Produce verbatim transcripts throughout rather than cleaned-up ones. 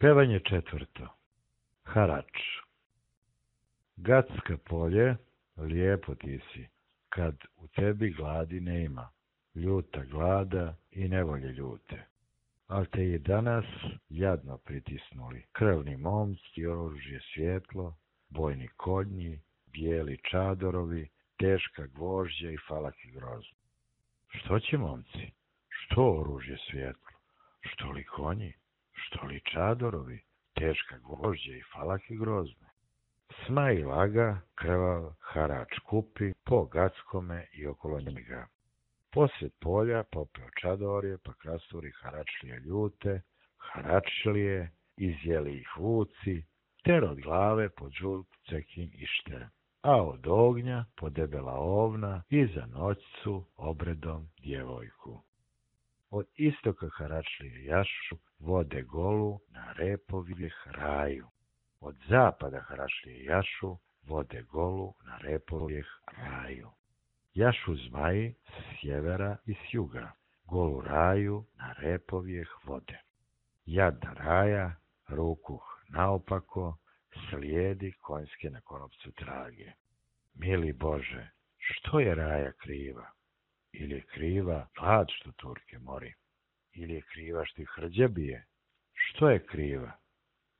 Pevanje četvrto. Harač. Gacka polje, lijepo ti si, kad u tebi gladi nema, ljuta glada i nevolje ljute. Al te i danas jadno pritisnuli, krvni momci, oružje svjetlo, bojni konji, bijeli čadorovi, teška gvožđa i falaki grozno. Što će momci? Što oružje svjetlo? Što li konji? Što li čadorovi? Teška gvožđa i falaki grozne? Sma i laga, krvav harač kupi, po Gackome i okolo njega. Posred polja popeo čadorje, pa krasturi haračlije ljute, haračlije, izjeli ih vuci, ter od glave pod žult cekin ište, a od ognja po debela ovna i za noćcu obredom djevojku. Od istoka haračlije jašu vode golu na repovijeh raju. Od zapada haračlije jašu vode golu na repovijeh raju. Jašu zmaji s sjevera i s juga, golu raju na repovijeh vode. Jadna raja, rukuh naopako, slijedi konjske na konopcu trage. Mili Bože, što je raja kriva? Ili je kriva glad što Turke mori? Ili je kriva što ih hrđa bije? Što je kriva?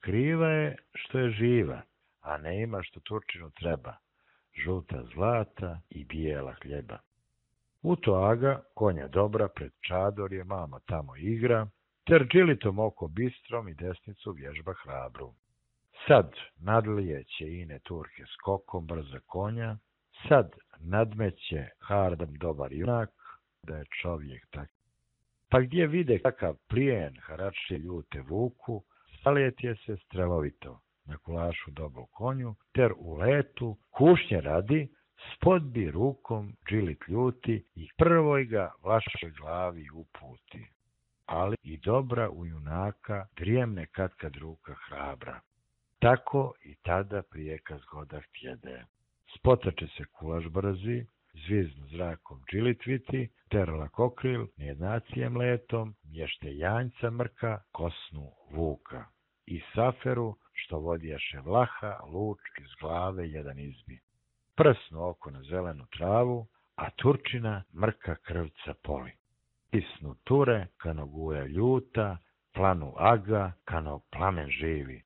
Kriva je što je živa, a ne ima što Turčinu treba, žuta zlata i bijela hljeba. U to aga, konja dobra, pred čadorje mama tamo igra, ter džilitom oko bistrom i desnicu vježba hrabru. Sad nadlijeće ine Turke skokom brza konja, sad nadmeće hardam dobar junak, da je čovjek tak. Pa gdje vide kakav plijen haračlije ljute vuku, salijetje se strelovito na kulašu dobru konju, ter u letu, kušnje radi, spodbi rukom džilit ljuti i prvoj ga vašoj glavi uputi. Ali i dobra u junaka drijemne katkad ruka hrabra. Tako i tada prijeka zgoda htjede. Spotače se kulaš brzi, zviznu zrakom džilitviti, ter lakokril nejednacijem letom, mješte janjca mrka, kosnu vuka. I saferu, što vodjaše vlaha, luč iz glave jedan izbi. Prsnu oko na zelenu travu, a Turčina mrka krvca poli. Pisnu ture, kano guja ljuta, planu aga, kano plamen živi.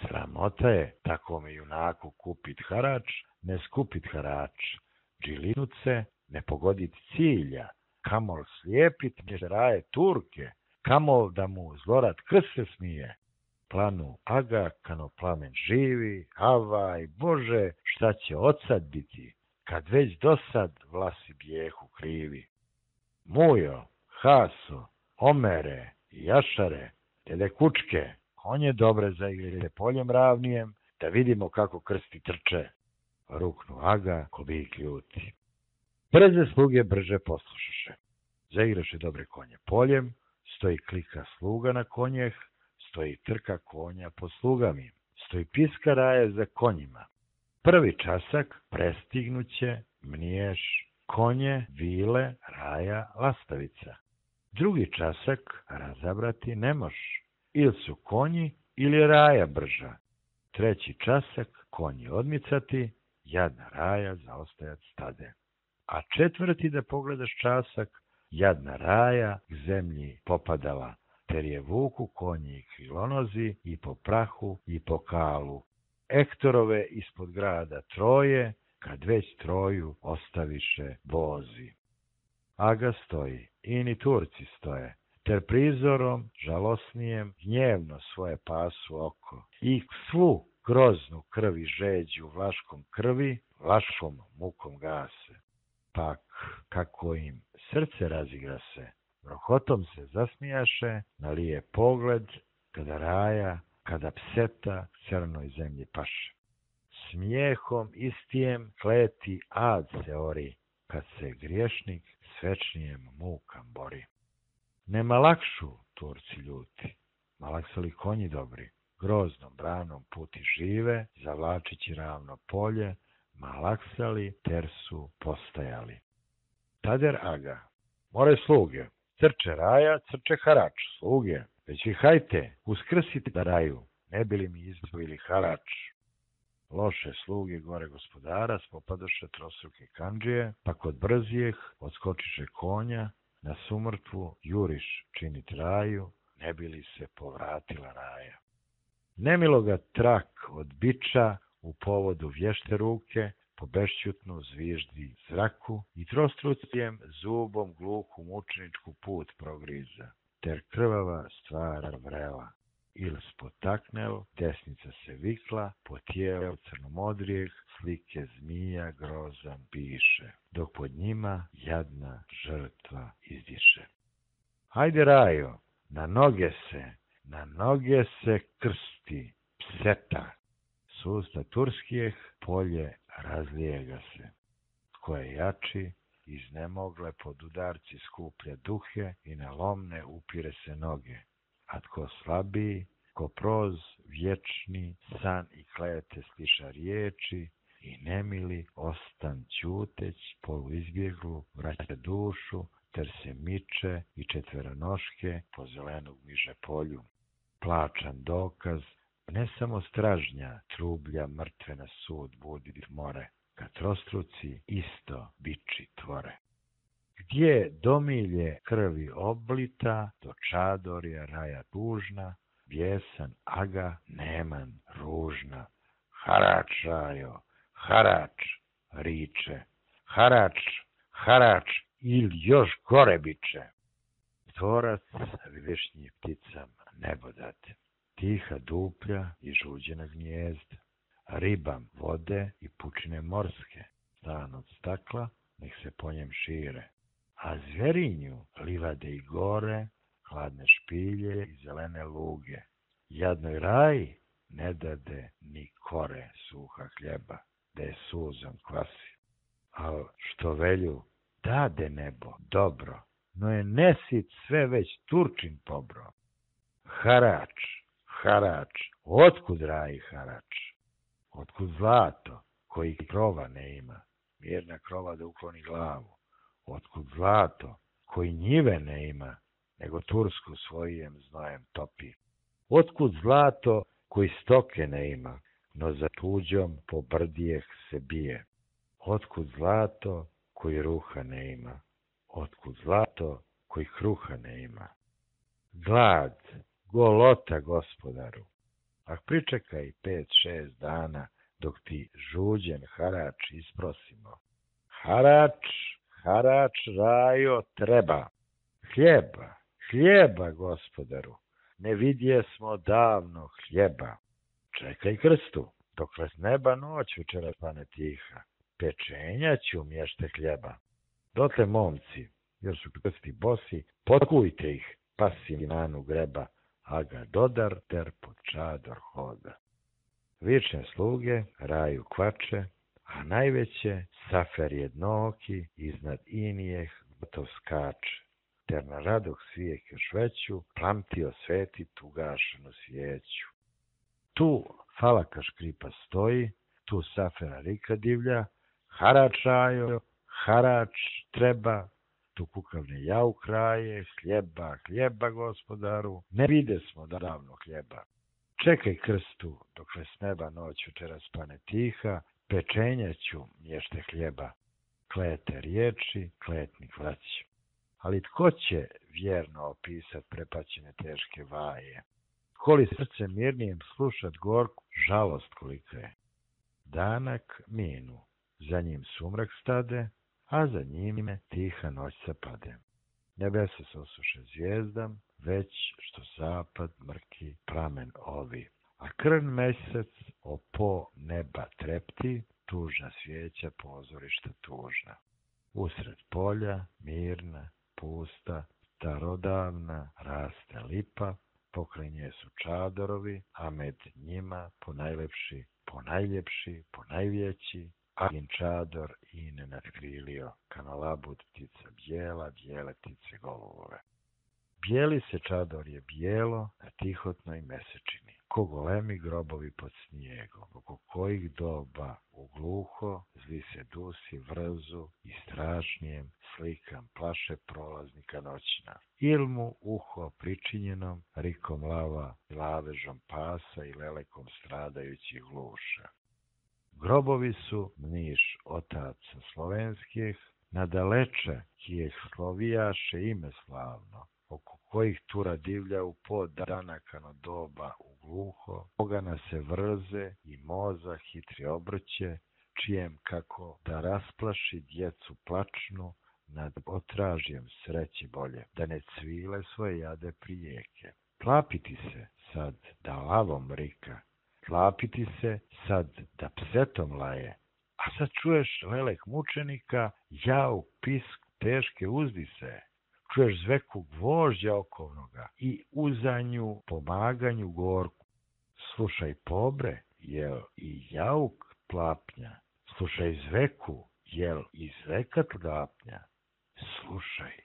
Sramota je takvome junaku kupit harač, ne skupit harač, džilinuce, ne pogodit cilja, kamol slijepit raje Turke, kamol da mu zlorad krse smije. Planu aga, kano plamen živi, avaj, Bože, šta će odsad biti, kad već dosad vlasi bijehu krivi. Mujo, Haso, Omere, Jašare, tele kučke, konje dobre zaigrajte poljem ravnijem, da vidimo kako krsti trče. Ruknu aga, ko bik ljuti. Brze sluge brže poslušaše. Zaigraše dobre konje poljem, stoji klika sluga na konjeh, stoji trka konja po slugami, stoji piska raje za konjima. Prvi časak prestignuće mniješ konje, vile, raja, lastavica. Drugi časak razabrati ne moš, ili su konji ili raja brža. Treći časak konji odmicati, jadna raja zaostajat stade. A četvrti da pogledaš časak, jadna raja k zemlji popadala, ter je vuku konji i krilonozi i po prahu i po kalu. Ektorove ispod grada Troje, kad već Troju ostaviše vozi. Aga stoji, i ni Turci stoje, ter prizorom žalosnijem gnjevno svoje pasu oko i svu groznu krvi žeđu vlaškom krvi, vlaškom mukom gase. Pak, kako im srce razigra se, rohotom se zasmijaše, nalije pogled, kada raja, kada pseta crnoj zemlji paše. Smijehom istijem kleti ad se ori, kad se griješnik s večnijem mukam bori. Nema lakšu Turci ljuti, malaksali konji dobri, groznom branom puti žive, zavlačići ravno polje, malaksali ter su postajali. Tader aga, more sluge, crče raja, crče harač, sluge, već vi hajte, uskrsite da raju, ne bili mi izdvojili harač. Loše sluge gore gospodara spopadoše trostruke kandžije, pa kod brzijeh odskočiše konja, na sumrtvu juriš činit raju, ne bili se povratila raja. Nemilo ga trak od biča u povodu vješte ruke, po bešćutnu zviždi zraku i trostrucijem zubom gluhu mučeničku put progriza, ter krvava stvar vrela. Il spotaknel, desnica se vikla, po tijelu crnomodrijeh slike zmija grozan piše, dok pod njima jadna žrtva izdiše. Hajde rajo, na noge se, na noge se krsti, pseta. S usta turskijeh polje razlijega se. Tko je jači, iznemogle pod udarci skuplja duhe i na lomne upire se noge. A tko slabiji, ko proz vječni san i klete stiša riječi i nemili ostan ćuteć polu izbjeglu vraća dušu ter se miče i četveronoške po zelenog miže polju. Plačan dokaz, ne samo stražnja trublja mrtve na sud budi more, kad trostruci isto biči tvore. Gdje domilje krvi oblita, do čadorja raja tužna, vjesan aga neman ružna. Harač rajo, harač, riče, harač, harač, il još gore biće. Tvorac višnji pticama nebo date, tiha duplja i žuđena gnjezda, ribam vode i pučine morske, stan od stakla, nek se po njem šire. A zverinju livade i gore, hladne špilje i zelene luge. Jadnoj raj ne dade ni kore suha hljeba, da je suzom kvasi. Al što velju, dade nebo, dobro, no je nesit sve već Turčin pobro. Harač, harač, otkud raji harač? Otkud zlato, koji krova ne ima, mirna krova da ukloni glavu? Otkud zlato, koji njive ne ima, nego Tursku svojijem znojem topi? Otkud zlato, koji stoke ne ima, no za tuđom po brdijeh se bije? Otkud zlato, koji ruha ne ima? Otkud zlato, koji kruha ne ima? Glad, golota gospodaru, a pričekaj pet, šest dana, dok ti žuđen harač isprosimo. Harač, harač rajo treba. Hljeba, hljeba gospodaru, ne vidje smo davno hljeba. Čekaj krstu, dokle s neba noć večeras pane tiha, pečenja ću mješte hljeba. Dotle momci, jer su krsti bosi, potkujte ih, pa si nanu greba, a ga dodar ter pod čador hoda. Vične sluge raju kvače, a najveće safer jednooki iznad inijeh gotov skače, ter na radoh svijek još veću plamtio svetit ugašenu svijeću. Tu falaka škripa stoji, tu safera rika divlja, harač rajo, harač treba, tu kukavne jau kraje, hljeba, hljeba gospodaru, ne vide smo davno hljeba. Čekaj krstu, dokle s neba noć večeras pane tiha, pečenja ću mješte hljeba. Klete riječi, kletnik vraći. Ali tko će vjerno opisat prepaćene teške vaje? Tko li srce mirnijem slušat gorku žalost kolika je? Danak minu, za njim sumrak stade, a za njime tiha noć zapade. Nebesa se osuše zvijezdam, već što zapad mrki pramen ovi, a krn mesec opo neba trepti, tužna svijeća pozorišta tužna. Usred polja, mirna, pusta, starodavna, raste lipa, pokraj nje su čadorovi, a med njima ponajlepši, ponajljepši, ponajvjeći, Agin čador i ne natkrilio, kanalabud ptica bijela, bijele ptice golubove. Bijeli se čador je bijelo na tihotnoj mesečini, ko golemi grobovi pod snijegom, oko kojih doba u gluho zli se dusi vrzu i strašnijem slikam plaše prolaznika noćna. Il mu uho pričinjenom rikom lava, lavežom pasa i lelekom stradajućih gluša. Grobovi su mniš otaca slovenskih, nadaleče kijeh slovijaše ime slavno, oko kojih tura divlja u pod danakano doba u gluho, ogana se vrze i moza hitri obrće, čijem kako da rasplaši djecu plačnu nad otražjem sreći bolje, da ne cvile svoje jade prijeke. Tlapiti se sad da lavom rika, tlapiti se sad da psetom laje, a sad čuješ lelek mučenika, jauk, pisk, teške uzdise, čuješ zveku gvožđa okovnoga i uzanju pomaganju gorku. Slušaj pobre, jel i jauk tlapnja, slušaj zveku, jel i zveka tlapnja, slušaj,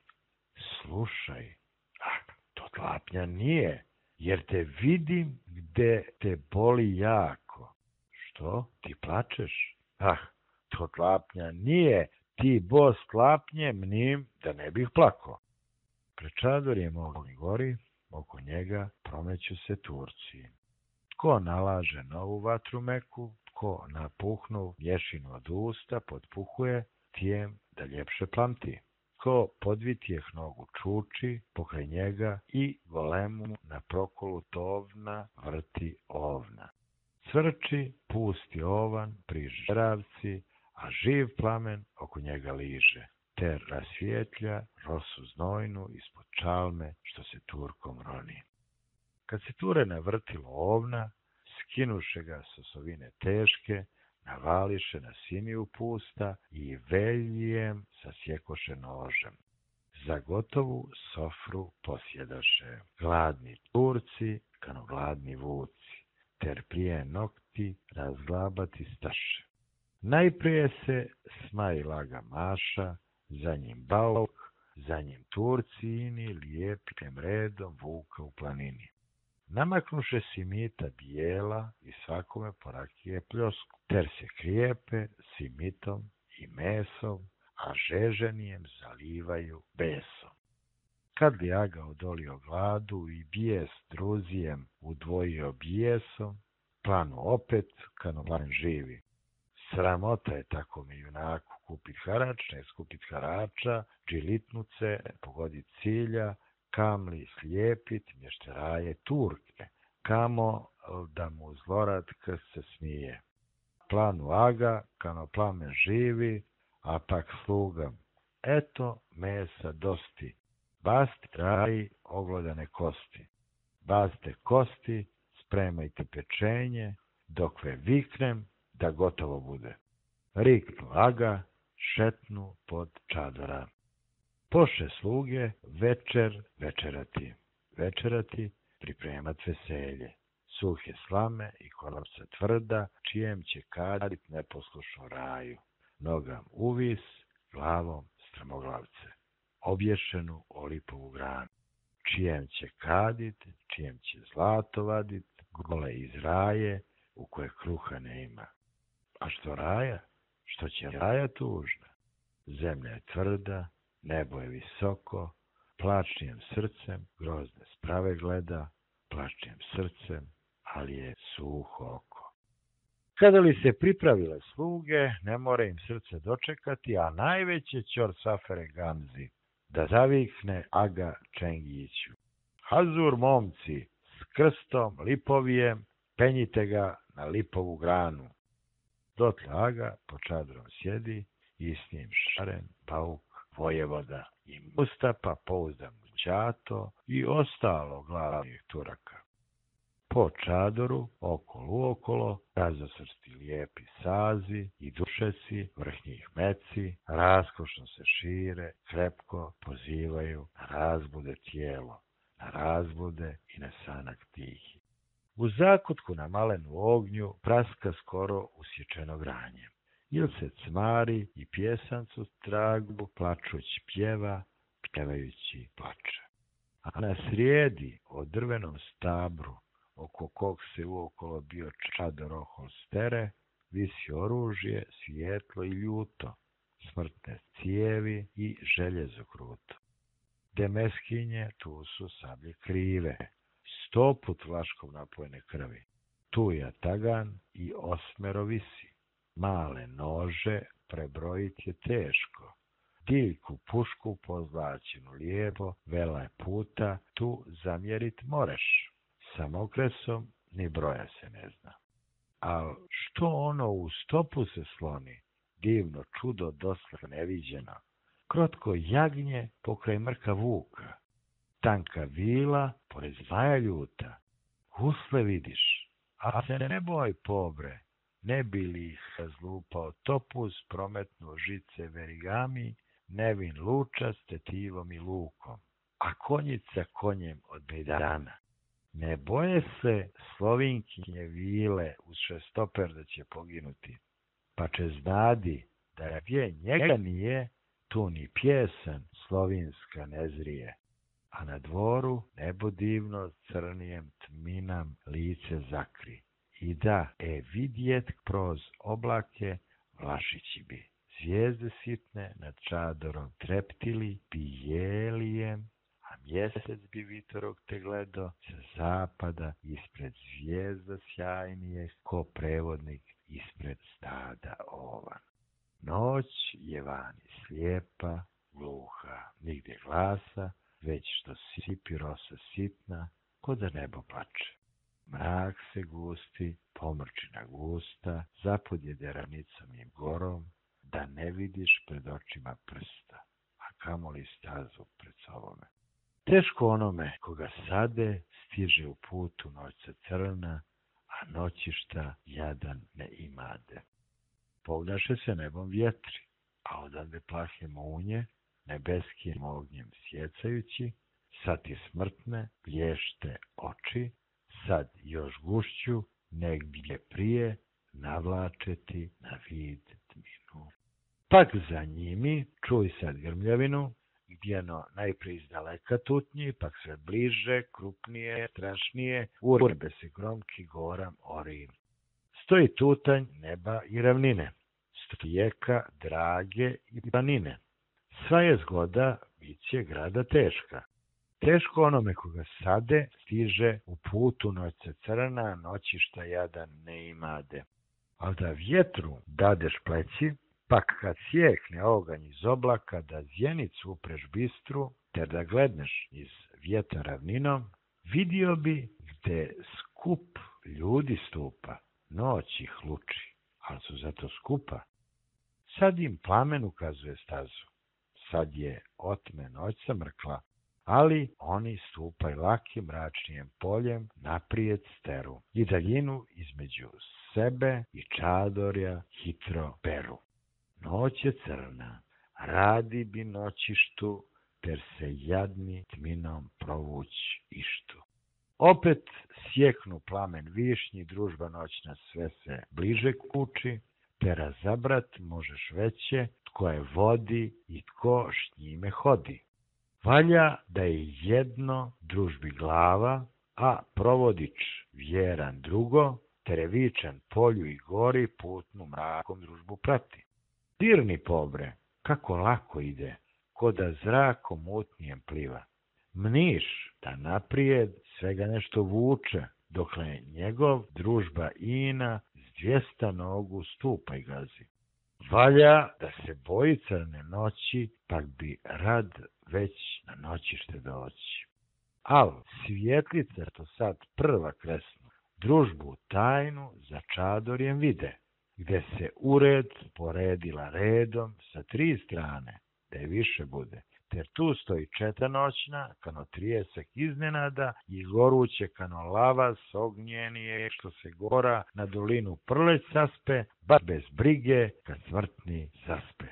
slušaj, ah, to tlapnja nije, jer te vidim gde te boli jako. Što, ti plačeš? Ah, to tlapnja nije, ti bos tlapnje mnim da ne bih plako. Pred čadorjem ognji gori, oko njega promeću se Turci. Tko nalaže novu vatru meku, tko napuhnu mješinu od usta potpuhuje, tijem da ljepše plamti. Ko podvitjeh nogu čuči pokraj njega i golemu na prokolu tovna vrti ovna. Cvrči pusti ovan pri žeravci, a živ plamen oko njega liže, te rasvijetlja rosu znojnu ispod čalme što se Turkom roni. Kad se ture navrtilo ovna, skinuše ga s osovine teške, navališe na simiju pusta i veljijem sasjekoše nožem. Za gotovu sofru posjedaše gladni Turci, kano gladni vuci, ter prije nokti razglabati staše. Najprije se smaj laga Maša, za njim Bauk, za njim Turci ini lijepim redom vuka u planini. Namaknuše simita bijela i svakome po rakije pljosku, ter se krijepe simitom i mesom, a žeženijem zalivaju besom. Kad li Aga odolio gladu i bijes druzijem udvojio bijesom, planu opet kano plan živi. Sramota je takome junaku kupit harač, ne skupit harača, džilitnuce, pogodit cilja, kamli slijepit mješteraje Turke, kamo da mu zlorad krst se smije. Planu Aga, kano plamen živi, a pak slugam, eto mesa dosti, basti traji oglodane kosti, bazte kosti, spremajte pečenje, dokve viknem da gotovo bude. Riknu Aga, šetnu pod čadora. Poše sluge večer večerati, večerati pripremat veselje, suhe slame i konopca tvrda, čijem će kadit neposlušno raju, nogam uvis, glavom strmoglavce, obješenu o lipovu granu, čijem će kadit, čijem će zlato vadit, gole iz raje, u koje kruha ne ima. A što raja? Što će raja tužna? Zemlja je tvrda, nebo je visoko, plačnijem srcem grozne sprave gleda, plačnijem srcem, ali je suho oko. Kada li se pripravile sluge, ne mora im srce dočekati, a najveće ćor safere Gamzi, da zavikne Aga Čengiću. Hazur, momci, s krstom lipovijem, penjite ga na lipovu granu. Dotle Aga po čadrom sjedi i s njim Šaren, Bauk, Vojevoda i Mustapa, pouzdan Ćato i ostalo glavnih Turaka. Po čadoru, okolo uokolo, razosrsti lijepi sazi i dušeci, vrhnjih meci, raskošno se šire, krepko pozivaju na razbude tijelo, na razbude i na sanak tihi. U zakutku na malenu ognju praska skoro usječeno granje. Il se cmari i pjesancu tragu plačuć pjeva, pjevajući plače. A na srijedi o drvenom stabru, oko kog se uokolo bio čador ohol stere, visi oružje, svijetlo i ljuto, smrtne cijevi i željezo kruto. Demeskinje, tu su sablje krive, sto put vlaškom napojene krvi. Tu je tagan i osmero visi, male nože prebrojit je teško. Diljku pušku pozlačenu lijepo, vela je puta, tu zamjerit moreš. Samokresom ni broja se ne zna. Al što ono u stopu se sloni, divno čudo dosad neviđeno, krotko jagnje pokraj mrka vuka, tanka vila pored zmaja ljuta, gusle vidiš, a se ne boj pobre, ne bi li ih zlupao topuz, prometnuo žice verigami, nevin luča s tetivom i lukom, a konjica konjem od bejdana. Ne boje se Slovinkinje vile uz šestoper da će poginuti, pa će znadi da je gdje njega nije, tu ni pjesan slovinska ne zrije. A na dvoru nebo divno crnijem tminam lice zakri. I da, e vidjet kroz oblake Vlašići bi. Zvijezde sitne nad čadorom treptili, bijelijem, a mjesec bi vitorog te gledo sa zapada ispred zvijezda sjajnije, ko prevodnik ispred stada ovan. Noć je vani slijepa, gluha, nigdje glasa, već što sipi rosa sitna, ko da nebo plače. Mrak se gusti, pomrčina gusta, zapodjede ravnicom i gorom, da ne vidiš pred očima prsta, a kamoli stazu pred sobome. Teško onome koga sade stiže u putu noćca crna, a noćišta jadan ne imade. Pognaše se nebom vjetri, a odande plahe munje, nebeskim ognjem sjecajući, sad ti smrtne blješte oči, sad još gušću, negdje prije, navlačeti na vid tminu. Pak za njimi čuj sad grmljavinu, gdjeno najprije izdaleka tutnji, pak sve bliže, krupnije, strašnije, urbe se gromki goram orim. Stoji tutanj neba i ravnine, strijeka, drage i planine. Sva je zgoda, bit će grada teška. Teško onome koga sade, stiže u putu noćce crna, noćišta jadan ne imade. Al da vjetru dadeš pleći, pak kad sjekne oganj iz oblaka, da zjenicu upreš bistru, ter da gledneš iz vjetra ravninom, vidio bi gde skup ljudi stupa, noć ih luči, ali su zato skupa. Sad im plamen ukazuje stazu, sad je otme noć samrkla, ali oni stupaju lakim mračnijem poljem naprijed steru i daljinu između sebe i čadorja hitro peru. Noć je crna, radi bi noćištu, ter se jadni tminom provuć ištu. Opet sjeknu plamen višnji, družba noćna sve se bliže kući, te razabrat možeš veće, tko je vodi i tko š njime hodi. Valja da je jedno družbi glava, a provodič vjeran drugo, terevičan polju i gori putnu mrakom družbu prati. Dirni pobre, kako lako ide, ko da zrakom mutnijem pliva. Mniš da naprijed svega nešto vuče, dokle njegov družba ina s dvijesta nogu stupa i gazi. Valja da se boji crne noći, pak bi rad već na noćište doći. Al svjetlice to sad prva kresnu, družbu tajnu za čadorjem vide, gde se ured poredila redom sa tri strane, da je više bude. Ter tu stoji četa noćna, kano trijesak iznenada i goruće kano lava s ognjenije, što se gora na dolinu prleć saspe, baš bez brige kad smrtni zaspe.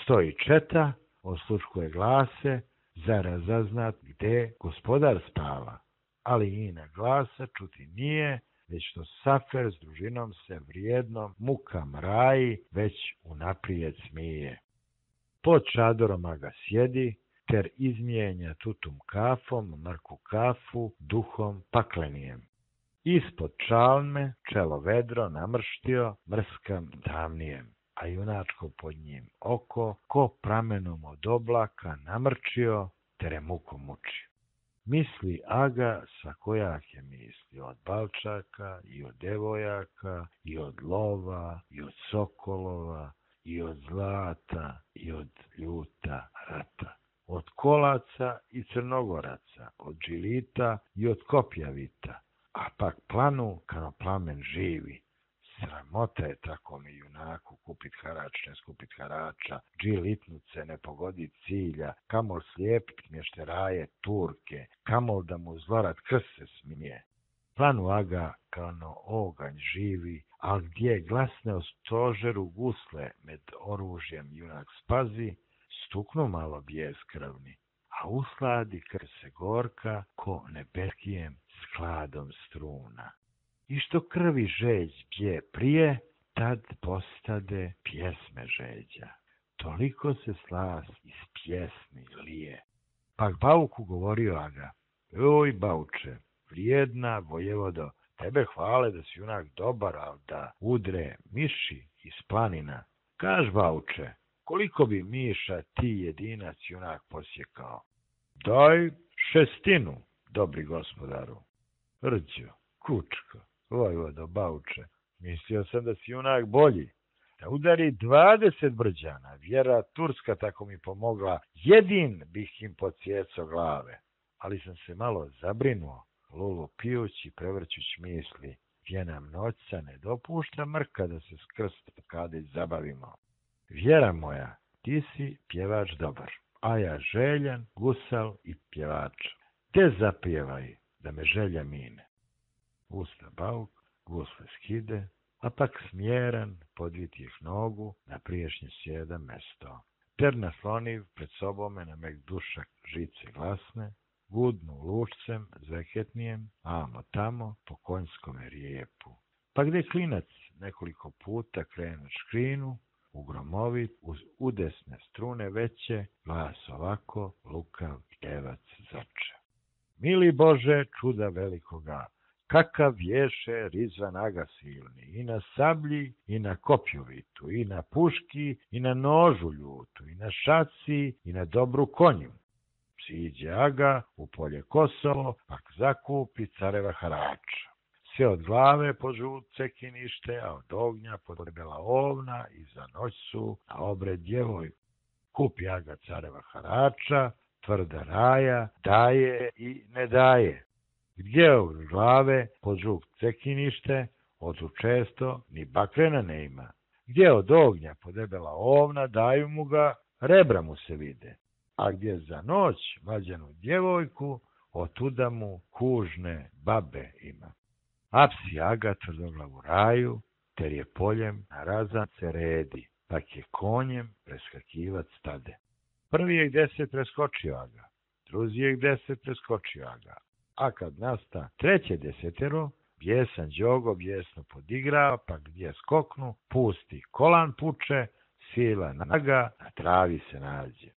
Stoji četa, osluškuje glase, za razaznat gde gospodar spava, ali i na glasa čuti nije, već što Safer s družinom se vrijednom muka mraji, već unaprijed smije. Pod čadorom ga sjedi, ter izmijenja tutum kafom, mrku kafu, duhom paklenijem. Ispod čalme čelo vedro namrštio mrskam tamnijem, a junačko pod njim oko ko pramenom od oblaka namrčio, tere mukom muči. Misli aga svakojake misli, od balčaka i od devojaka, i od lova, i od sokolova, i od zlata, i od ljuta rata. Od kolaca i crnogoraca, od džilita i od kopjavita, a pak planu kano plamen živi. Sramota je tako mi junaku kupit harač, ne skupit harača, džilitnuce ne pogodit cilja, kamol slijepit mješteraje Turke, kamol da mu zlorat krst se smije. Planu aga kano oganj živi, al gdje glasne o stožeru gusle med oružjem junak spazi, stuknu malo bijes krvni, a usladi krv se gorka ko nebeskijem skladom struna. I što krvi žeđ bje prije, tad postade pjesme žeđa. Toliko se slas iz pjesmi lije. Pak Bauku govorio aga, oj Bauče, vrijedna vojevodo, tebe hvale da si junak dobar, al da udre miši iz planina. Kaž Bauče, koliko bi miša ti jedinac junak posjekao? Daj šestinu, dobri gospodaru. Rđo, kučko, vojvodo Bauče, mislio sam da si junak bolji. Da udari dvadeset brđana, vjera Turska tako mi pomogla, jedin bih im podsjecao glave. Ali sam se malo zabrinuo, lulu pijući, prevrćući misli, gdje nam noćca ne dopušta mrka da se s krst kade zabavimo. Vjera moja, ti si pjevač dobar, a ja željan, gusal i pjevač. Te zapjevaj, da me želja mine. Usta Bauk, gusle skide, a pak smjeran podvitih nogu na priješnje sjeda mesto. Ter nasloniv pred sobome na mek dušak žice glasne, gudnu lučcem zveketnijem, amo tamo po konjskome rijepu. Pa gdje klinac nekoliko puta krenu škrinu, ugromovit uz udesne strune veće, glas ovako lukav pjevac zače. Mili Bože, čuda velikoga, kakav ješe Rizvan aga silni, i na sablji, i na kopjovitu, i na puški, i na nožu ljutu, i na šaci, i na dobru konju. Siđe aga u polje Kosovo, pak zakupi careva harača. Sve od glave po žut cekinište, a od ognja pod debela ovna i za noć su na obred djevojku. Kupi aga careva harača, tvrda raja, daje i ne daje. Gdje od glave pod žut cekinište, odu često ni bakrena ne ima. Gdje od ognja pod debela ovna, daju mu ga, rebra mu se vide. A gdje za noć vađanu djevojku, otuda mu kužne babe ima. Apsi aga tvrdoglavu raju, ter je poljem na razance redi, pak je konjem preskakivac stade. Prvi je gdje se preskočio aga, drugi je gdje se preskočio aga, a kad nasta treće desetero, bjesan đogo bjesno podigra, pa gdje skoknu, pusti kolan puče, sila naga, na travi se nađe.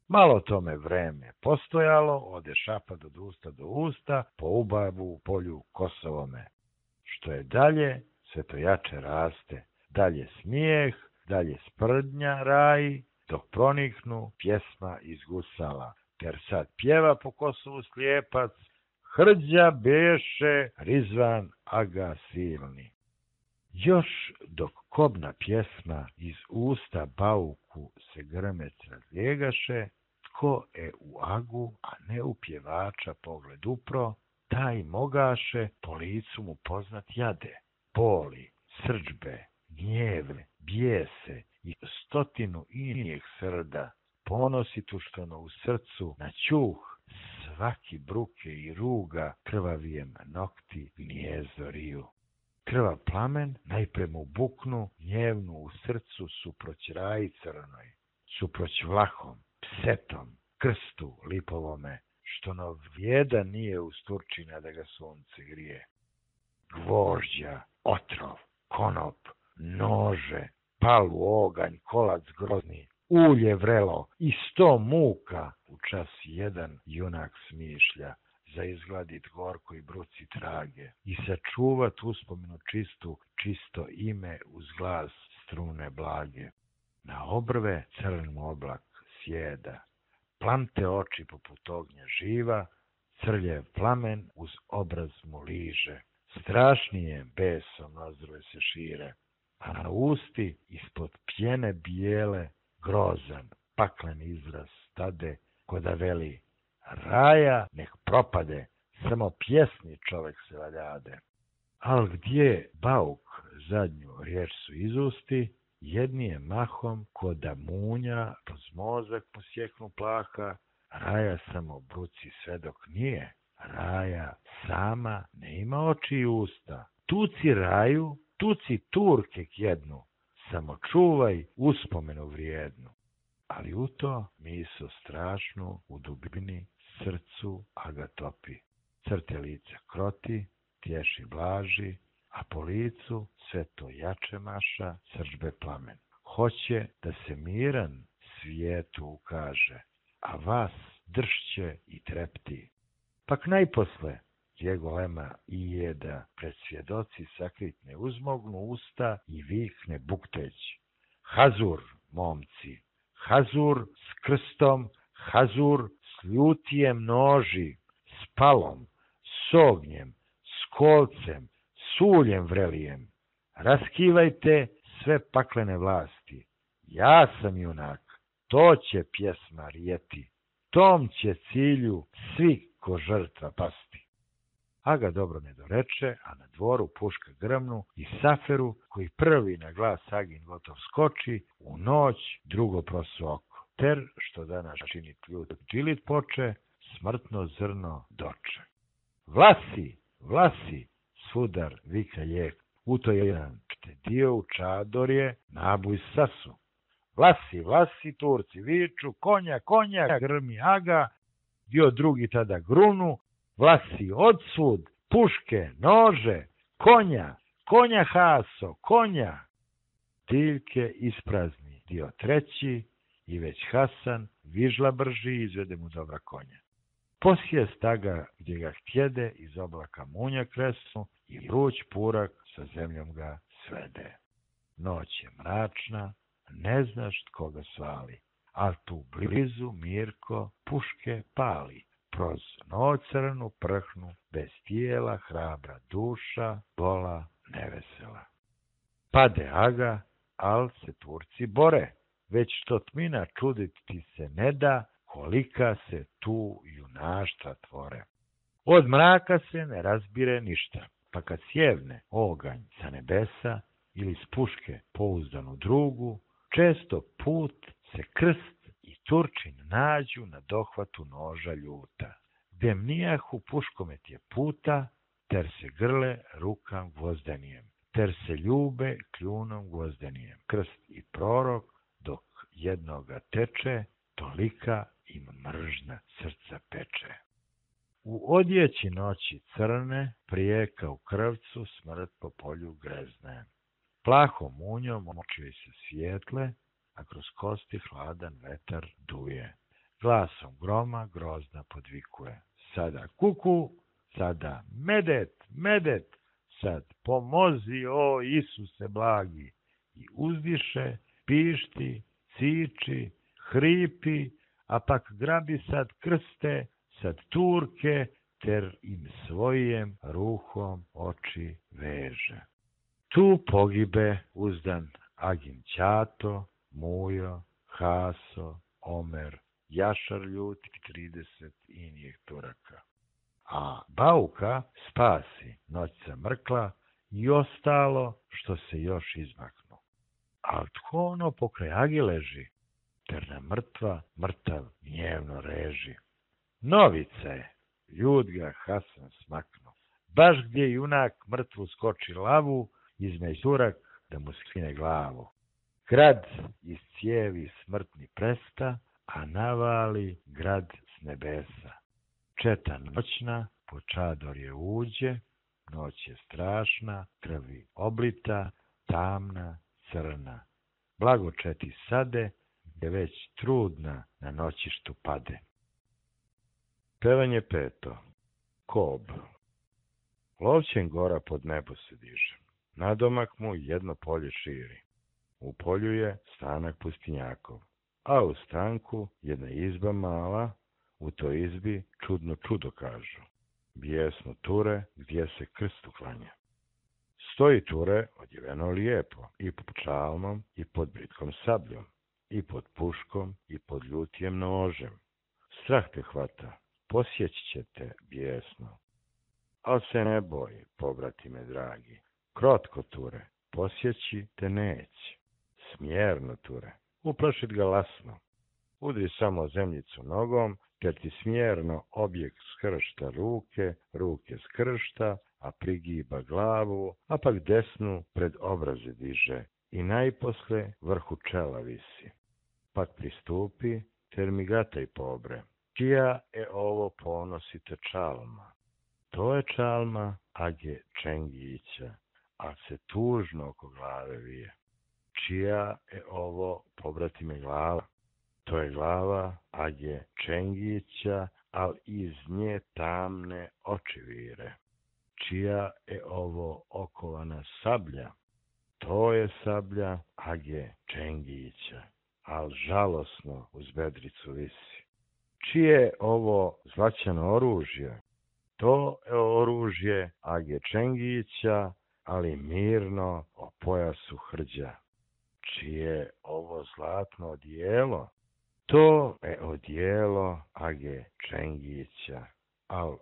Malo tome vreme postojalo, ode šapad od usta do usta, po ubavu u polju Kosovome. Što je dalje, sve to jače raste, dalje smijeh, dalje sprdnja raji, dok proniknu pjesma iz gusala, ter sad pjeva po Kosovu slijepac, Hrđa beše Rizvan aga silni. Još dok kobna pjesma iz usta Bauku se grmec razlijegaše, tko e u agu, a ne u pjevača pogled upro, taj mogaše po licu mu poznat jade, boli, srđbe, gnjeve, bijese i stotinu inijeg srda, ponositu što no u srcu na čuh, svaki bruke i ruga krvavijem nokti gnjezdo riju. Krvav plamen najpre mu buknu gnjevnu u srcu suproć raji crnoj, suproć vlahom, psetom, krstu lipovome, što no vjeda nije uz Turčina da ga sunce grije. Gvožđa, otrov, konop, nože, palu oganj, kolac grozni, ulje vrelo i sto muka u čas jedan junak smišlja, za izgladit gorko i bruci trage i sačuvat uspomenu čistu, čisto ime uz glas strune blage. Na obrve crn oblak sjeda, plamte oči poput ognja živa, crljev plamen uz obraz mu liže, strašnije besom nozdrve se šire, a na usti ispod pjene bijele grozan, paklen izraz stade, ko da veli: raja nek propade, samo pjesni čovek se valjade. Al gdje bauk zadnju riječ su izusti, jedni je mahom ko da munja, poz mozak mu sjeknu plaha, raja samo bruci sve dok nije, raja sama ne ima oči i usta. Tuci raju, tuci turke kjednu, samo čuvaj uspomenu vrijednu. Ali u to miso strašnu u dubini srcu aga topi. Crte lica kroti, tješi blaži, a po licu sve to jače maša srdžbe plamen. Hoće da se miran svijetu ukaže, a vas dršće i trepti. Pak najposle gdje golema i jeda pred svjedoci sakritne uzmognu usta i vikne bukteć: hazur, momci, hazur s krstom, hazur s ljutijem noži, s palom, s ognjem, s kolcem, s uljem vrelijem. Raskivajte sve paklene vlasti. Ja sam junak, to će pjesma rijeti, tom će cilju svi ko žrtva pasti. Aga dobro ne doreče, a na dvoru puška grmnu i Saferu, koji prvi na glas Agin gotov skoči, u noć drugo prosu oko. Ter, što danas čini ljut džilit poče, smrtno zrno doče. Vlasi, vlasi, sudar vika lijek, u to jedan dio u čadorje, nabuj sasu. Vlasi, vlasi, Turci viču, konja, konja, grmi Aga, dio drugi tada grunu, vlasi odsud, puške, nože, konja, konja haso, konja. Tiljke isprazni dio treći i već Hasan vižla brži izvede mu dobra konja. Posjest Aga gdje ga htjede iz oblaka munja kresnu i vruć purak sa zemljom ga svede. Noć je mračna, ne znaš tko ga svali, a tu blizu Mirko puške pali. Proz noć crnu prhnu, bez tijela hrabra duša, gola nevesela. Pade Aga, al se Turci bore, već što tmina čudit ti se ne da, kolika se tu junaštva tvore. Od mraka se ne razbire ništa, pa kad sjevne oganj sa nebesa ili s puške pouzdanu drugu, često put se krst i Turčin nađu na dohvatu noža ljuta. Gde mnijahu puškomet je puta, ter se grle rukam gvozdenijem, ter se ljube kljunom gvozdenijem. Krst i prorok dok jednoga teče, tolika im mržna srca peče. U odjeći noći crne, prijeka u krvcu, smrt po polju grezne. Plahom munjom oči se svijetle, a kroz kosti hladan vetar duje. Glasom groma grozna podvikuje: sada kuku, sada medet, medet, sad pomozi, o Isuse blagi. I uzdiše, pišti, ciči, hripi, a pak grabi sad krste, sad Turke, ter im svojem ruhom oči veže. Tu pogibe uzdan Agin ćato, Mujo, Haso, Omer, Jašar ljuti trideset inijih Turaka. A Bauka spasi noćca mrkla i ostalo što se još izmaknu. A tko ono pokraj Agi leži, ter na mrtva mrtav gnjevno reži. Novica je, ljud ga Hasan smaknu, baš gdje junak mrtvu skoči lavu, između Turak da mu skine glavu. Grad iz cijevi smrtni presta, a navali grad s nebesa. Četa noćna po čadorje uđe, noć je strašna, krvi oblita, tamna, crna. Blago četi sade, gdje već trudna na noćištu pade. Pevanje peto. Kob. Lovćen gora pod nebo se diže. Nadomak mu jedno polje širi. U polju je stanak pustinjakov, a u stanku jedna izba mala, u toj izbi čudno čudo kažu. Bijesno ture gdje se krstu klanja. Stoji ture odjeveno lijepo, i pod čalmom, i pod britkom sabljom, i pod puškom, i pod ljutijem nožem. Strah te hvata, posjeći će te bijesno. Al se ne boj, pobratime dragi, krotko ture, posjeći te neće. Smjerno ture, uplašit ga lasno. Udri samo zemljicu nogom, ter ti smjerno objekt skršta ruke, ruke skršta, a prigiba glavu, a pak desnu pred obraze diže i najposle vrhu čela visi. Pak pristupi, ter mi gataj pobre. Čija je ovo ponosite čalma? To je čalma Age Čengića, a se tužno oko glave vije. Čija je ovo, pobratime, glava? To je glava Age Čengića, al iz nje tamne oči vire. Čija je ovo okovana sablja? To je sablja Age Čengića, al žalosno uz bedricu visi. Čije je ovo zlaćano oružje? To je oružje Age Čengića, ali mirno o pojasu hrđa. Čije je ovo zlatno odijelo? To je odijelo Age Čengića, al